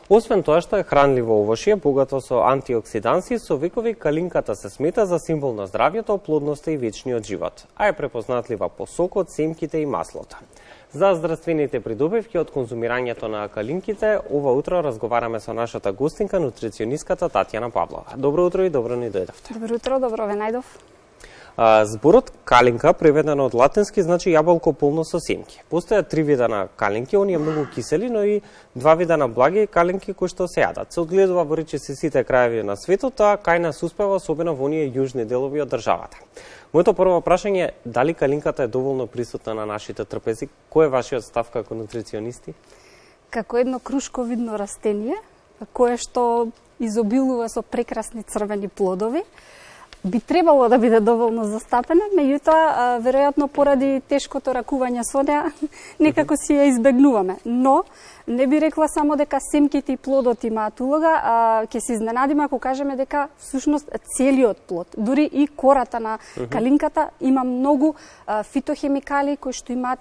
Освен тоа што е хранливо овошје, богато со антиоксиданси, со векови калинката се смета за символ на здравјето, плодноста и вечниот живот, а е препознатлива по сокот, семките и маслото. За здравствените придобивки од конзумирањето на калинките, ова утро разговараме со нашата гостинка, нутриционистката Татјана Павлова. Добро утро и добро ни дојдовте. Добро утро, добро ве најдов. Зборот калинка, преведено од латински, значи јаболко полно со семки. Постојат 3 вида на калинки, оние многу кисели, но и 2 вида на благи калинки кои што се јадат. Се одгледува во речиси сите крајеви на светот, а кај нас успева особено во оние јужни делови од државата. Моето прво прашање е дали калинката е доволно присутна на нашите трпези? Кој е вашиот став како нутриционисти? Како едно крушковидно растение, кое што изобилува со прекрасни црвени плодови, би требало да биде доволно застапена, меѓутоа, веројатно поради тешкото ракување со неа, некако си ја избегнуваме. Но, не би рекла само дека семките и плодот имаат улога, ќе се изненадиме ако кажеме дека всушност целиот плод, дури и кората на калинката има многу фитохемикали кои што имаат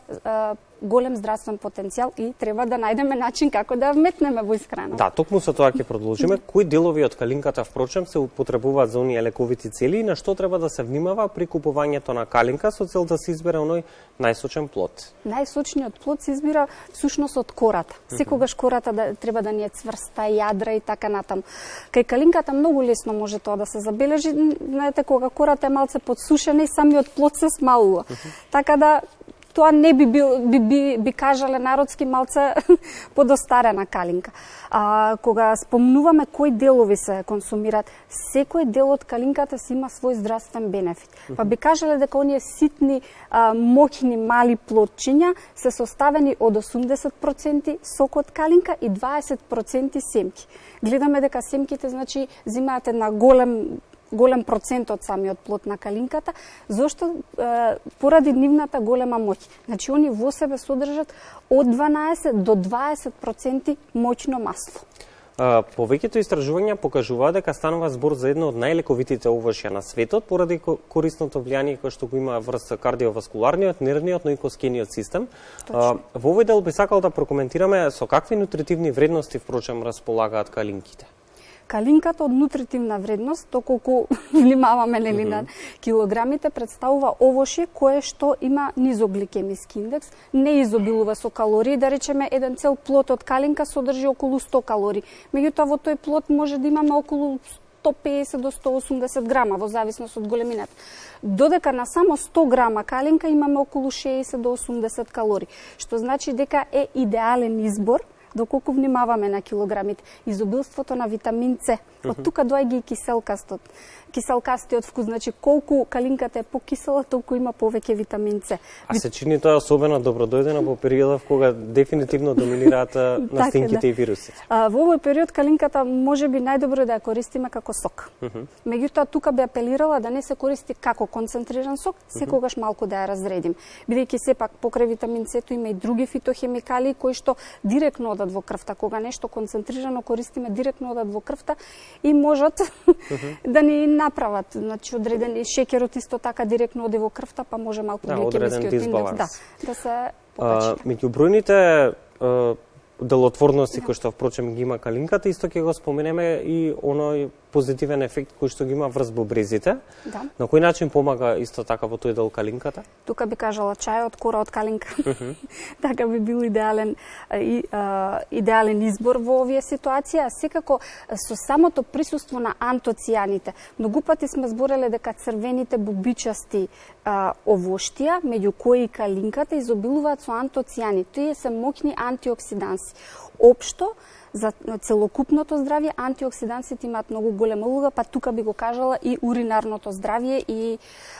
голем здравствен потенцијал и треба да најдеме начин како да вметнеме во исхрана. Да, токму со тоа ќе продолжиме. Кои делови од калинката впрочем се употребуваат за оние лековити цели и на што треба да се внимава при купувањето на калинка со цел да се избере оној најсочен плод? Најсочниот плод се избира всушност од кората. Секогаш кората треба да ни е цврста, јадра и така натаму. Кај калинката многу лесно може тоа да се забележи, знаете, кога кората е малце подсушена и самиот плод се смалува. Така да тоа не би кажале народски малце подостарена калинка. Кога спомнуваме кои делови се консумираат, секој дел од калинката си има свој здравствен бенефит. Па би кажале дека оние ситни, моќни, мали плодчиња се составени од 80% сок од калинка и 20% семки. Гледаме дека семките, значи, зимаат една голем процент од самиот плод на калинката, зашто поради нивната голема моќ. Значи, они во себе содржат од 12 до 20% моќно масло. Повеќето истражувања покажуваат дека станува збор за едно од најлековитите овошја на светот поради корисното влијание кое што го има врз кардиоваскуларниот, нервниот, но и коскениот систем. Во овој дел би сакал да прокоментираме со какви нутритивни вредности впрочем располагаат калинките. Калинката од нутритивна вредност, доколку внимаваме на килограмите, представува овошје кое што има низогликемиски индекс, не изобилува со калории, да речеме еден цел плод од калинка содржи околу 100 калории. Меѓутоа во тој плод може да имаме околу 150 до 180 грама во зависност од големината. Додека на само 100 грама калинка имаме околу 60 до 80 калории, што значи дека е идеален избор доколку внимаваме на килограмите. Изобилството на витамин С. Од тука доаѓа и киселкастиот вкус, значи колку калинката е покисела, толку има повеќе витамин С. А се чини тоа особено добродојдено во периодов кога дефинитивно доминираат настинките и вирусите. Во овој период калинката можеби најдобро да ја користиме како сок. Меѓутоа тука би апелирала да не се користи како концентриран сок, секогаш малку да ја разредим. Бидејќи сепак покрај витамин С има и други фитохемикали кои што директно одат во крвта. Кога нешто концентрирано користиме, директно одат во крвта и можат да ни направат, значи одредени шеќерот исто така директно оди во крвта, па може малку гликемискиот индекс да се покачи. Меѓу бројните делотворности кои што впрочем ги има калинката, исто ќе го споменеме и оној позитивен ефект кој што ги има врз бубрезите. Да. На кој начин помага исто така во тој дел калинката? Тука би кажала чајот, кора од калинка. Така би бил идеален избор во овие ситуации, а секако со самото присуство на антоцијаните. Многу пати сме збореле дека црвените бубичасти овоштија, меѓу кои и калинката, изобилуваат со антоцијани. Тие се моќни антиоксиданси. Општо, за целокупното здравје, антиоксидансите имаат многу голема улога, па тука би го кажала и уринарното здравје и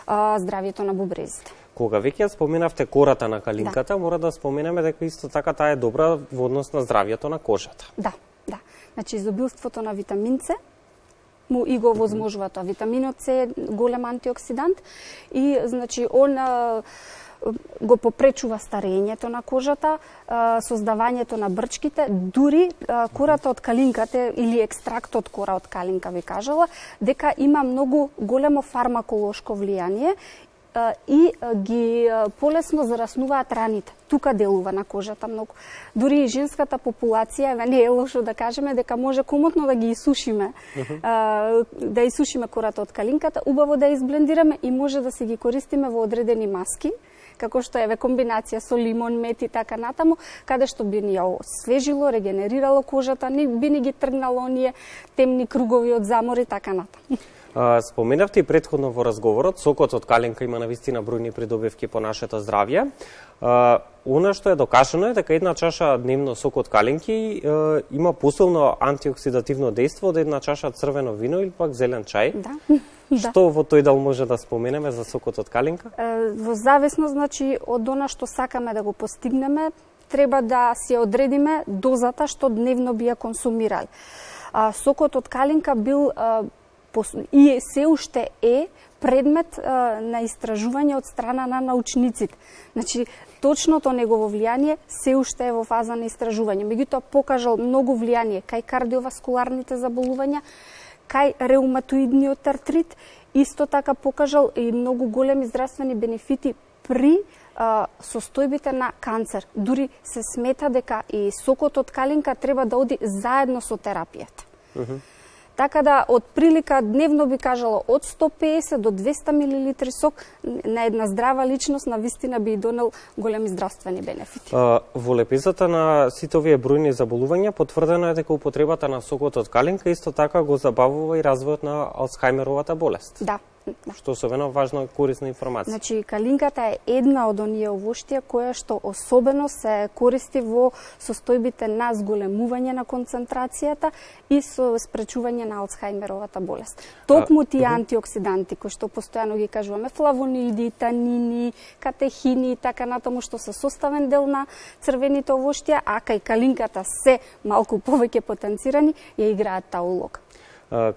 здравјето на бубрезите. Кога веќе споменавте кората на калинката, мора да споменеме дека исто така таа е добра во однос на здравјето на кожата. Да. Значи, изобилството на витамин С му и го возможува тоа. Витаминот С е голем антиоксидант и, значи, он го попречува старењето на кожата, создавањето на брчките, дури кората од калинката или екстрактот кора од калинка ви кажала дека има многу големо фармаколошко влијание и ги полесно зараснуваат раните. Тука делува на кожата многу. Дури и женската популација, не е лошо да кажеме дека може комотно да ги исушиме, да исушиме кората од калинката, убаво да изблендираме и може да се ги користиме во одредени маски, како што е комбинација со лимон, мед и така натаму, каде што би ни ја освежило, регенерирало кожата, би ни ги тргнало оние темни кругови од замор и така натаму. Споменавте и претходно во разговорот, сокот од калинка има навистина бројни придобивки по нашето здравје. Она што е докажано е дека една чаша дневно сок од калинки има посилно антиоксидативно дејство од една чаша црвено вино или пак зелен чај. Да. Што во тој дел може да споменеме за сокот од калинка? Во зависност, значи, од она што сакаме да го постигнеме, треба да си одредиме дозата што дневно би ја консумирали. Сокот од калинка бил и се уште е предмет на истражување од страна на научниците. Значи, точното негово влијание се уште е во фаза на истражување. Меѓутоа, покажал многу влијание кај кардиоваскуларните заболувања, кај реуматоидниот артрит, исто така покажал и многу големи здравствени бенефити при состојбите на канцер. Дури се смета дека и сокот од калинка треба да оди заедно со терапијата. Така да, од прилика дневно би кажала од 150 до 200 мл сок на една здрава личност на вистина би донел големи здравствени бенефити. Во лепезата на сите овие бројни заболувања потврдено е дека употребата на сокот од калинка исто така го забавува и развојот на Алцхајмеровата болест. Да. Што особено важна и корисна информација. Значи, калинката е една од оние овоштија која што особено се користи во состојбите на зголемување на концентрацијата и со спречување на Алцхајмеровата болест. Токму тие антиоксиданти кои што постојано ги кажуваме, флавоноиди, танини, катехини и така натаму, што се составен дел на црвените овоштија, а кај калинката се малку повеќе потенцирани, ја играат таа улога.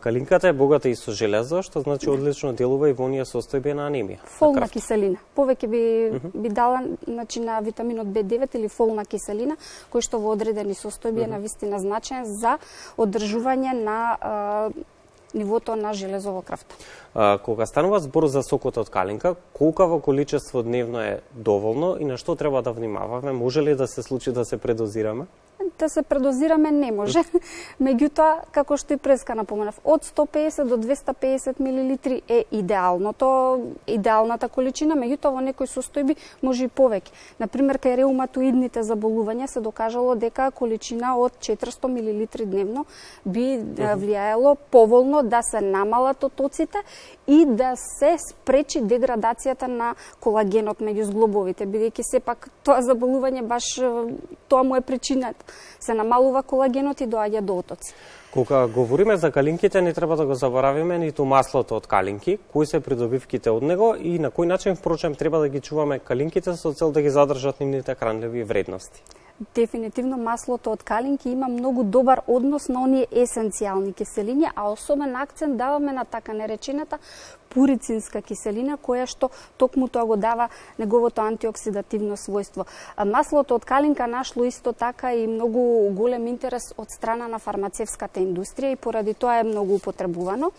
Калинката е богата и со железо, што значи одлично делува и во оние состојби на анемија. Фолна киселина. Повеќе би дала, значи, на витаминот B9 или фолна киселина, кој што во одредени состојби е навистина значаен за одржување на нивото на железо во крвта. Кога станува збор за сокот од калинка, колкаво количество дневно е доволно и на што треба да внимаваме? Може ли да се случи да се предозираме? Да се предозираме не може. Меѓутоа, како што и преска напоменав, од 150 до 250 мл е идеалната количина, меѓутоа во некои состојби може и повеќе. Например, кај реуматоидните заболувања се докажало дека количина од 400 мл дневно би влијаело поволно да се намалат отоците и да се спречи деградацијата на колагенот меѓу зглобовите, бидејќи сепак тоа заболување баш тоа му е причината. Се намалува колагенот и доаѓа до отоци. Кога говориме за калинките, не треба да го заборавиме ниту маслото од калинки, кои се придобивките од него и на кој начин, впрочем, треба да ги чуваме калинките со цел да ги задржат нивните хранливи вредности. Дефинитивно маслото од калинки има многу добар однос на оние есенцијални киселини, а особен акцент даваме на така наречената пурицинска киселина, која што токму тоа го дава неговото антиоксидативно својство. Маслото од калинка нашло исто така и многу голем интерес од страна на фармацевската индустрија и поради тоа е многу употребувано.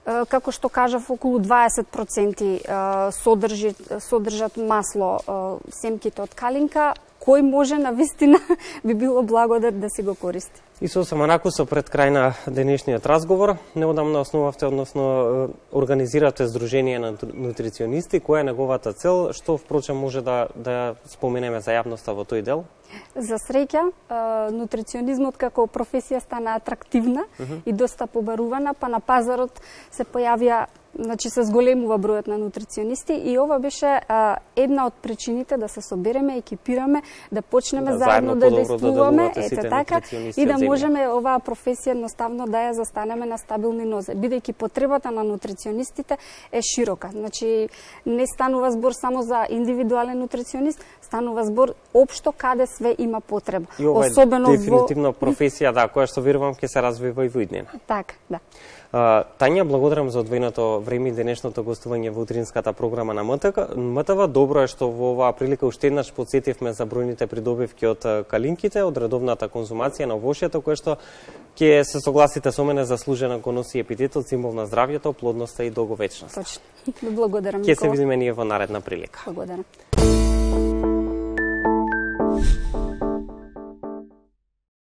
Како што кажав, околу 20% содржат масло семките од калинка, кој може на вистина би било благодар да си го користи. И сосема накусо пред крај на денешниот разговор, неодамна основавте, односно организирате Здружение на нутриционисти, која е неговата цел, што впрочем може да споменеме за јавноста во тој дел? За среќа, нутриционизмот како професија стана атрактивна и доста побарувана, па на пазарот се појавија, значи се зголемува бројот на нутриционисти и ова беше една од причините да се собереме, екипираме, да почнеме заедно да действуваме, така, и да можеме оваа професија едноставно да ја застанеме на стабилни нозе, бидејќи потребата на нутриционистите е широка. Значи не станува збор само за индивидуален нутриционист, станува збор општо каде све има потреба. И ова е дефинитивно професија, да, која што верувам ќе се развива и во иднина. Така, да. Тања, благодарам за одвоеното време и денешното гостување во утринската програма на МТВ. Добро е што во оваа прилика уште еднаш потсетивме за бројните придобивки од калинките, од редовната конзумација на овошјето, кое што ќе се согласите со мене заслужено го носи епитетот, символ на здравјето, плодноста и долговечност. Точно. Благодарам, Ќе се Никола. видиме ние во наредна прилика. Благодарам.